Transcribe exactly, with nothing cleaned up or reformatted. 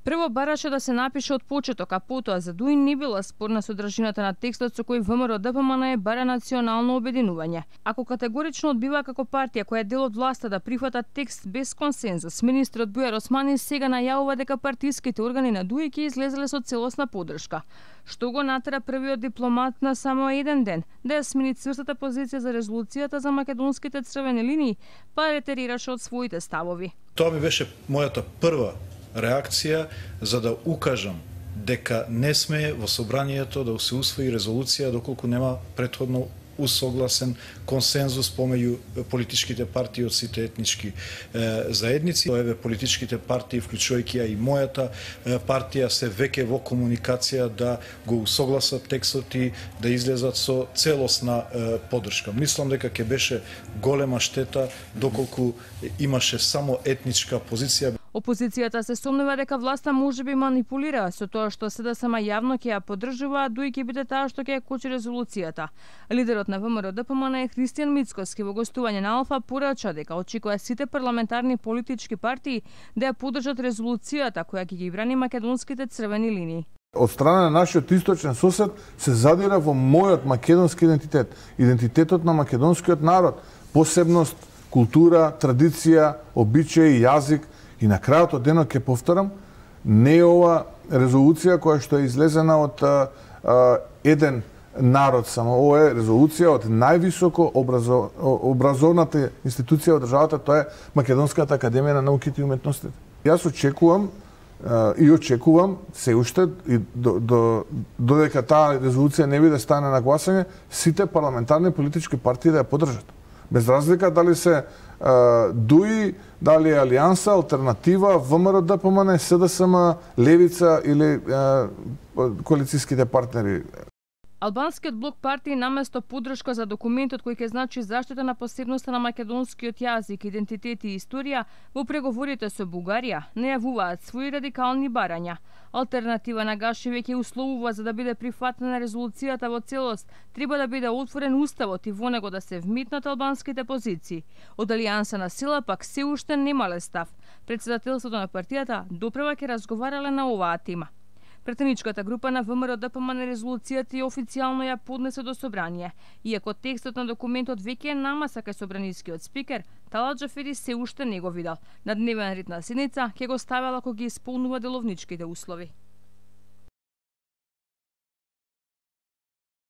Прво бараше да се напише од почеток, а потоа за Дуин не била спорна содржината на текстот со кој ВМРО-ДПМН бара национално обединување. Ако категорично одбива како партија која е дел од власта да прифата текст без консензус, министрот Бујар Османи сега најавува дека партиските органи на ДУИ ќе излезеле со целосна поддршка, што го натера првиот дипломат на само еден ден да ја смени цврстата позиција за резолуцијата за македонските црвени линии, па ретерираше од своите ставови. Тоа ми беше мојата прва реакција за да укажам дека не сме во собранието да се усвои резолуција доколку нема претходно усогласен консензус помеѓу политичките партии од сите етнички е, заедници. Еве политичките партии, вклучувајќи и мојата е, партија, се веќе во комуникација да го усогласат текстот и да излезат со целосна е, поддршка. Мислам дека ќе беше голема штета доколку имаше само етничка позиција. Опозицијата се сомнува дека власта можеби манипулира со тоа што СДСМ јавно ќе ја поддржува, а ДУИ ќе биде таа што ќе ја кочи резолуцијата. Лидерот на ВМРО-ДПМН Христијан Мицкоски во гостување на Алфа порача дека очекува сите парламентарни политички партии да ја поддржат резолуцијата која ќе ги брани македонските црвени линии. Од страна на нашиот источен сосед се задира во мојот македонски идентитет, идентитетот на македонскиот народ, посебност, култура, традиција, обичаи, јазик. И на крајот од денот ќе повторам, не е ова резолуција која што е излезена од а, а, еден народ само. Ова е резолуција од највисоко образов... образовната институција од државата, тоа е Македонската академија на науките и уметностите. Јас очекувам а, и очекувам се уште и до, до, додека таа резолуција не биде стане на гласање, сите парламентарни политички партии да ја поддржат. Без разлика дали се а, ДУИ, дали е Алијанса, Алтернатива, ВМРО-ДПМН, СДСМ, Левица или а, коалицијските партнери. Албанскиот блок партии наместо поддршка за документот кој ќе значи заштита на посебноста на македонскиот јазик, идентитет и историја во преговорите со Бугарија, најавуваат своји радикални барања. Алтернатива нагаши веќе условува за да биде прифатена резолуцијата во целост, треба да биде отворен уставот и во него да се вметнат албанските позиции. Од Алијанса на сила пак се уште немале став. Председателството на партијата допрева ќе разговарале на оваа тема. Претеничката група на ВМРО-ДПМН резолуцијата и официјално ја поднесе до собрание. Иако текстот на документот веќе е намаса кај собранискиот спикер, Талат Џафери се уште не го видел. На дневен ред на седница ќе го ставела ако ги исполнува деловничките услови.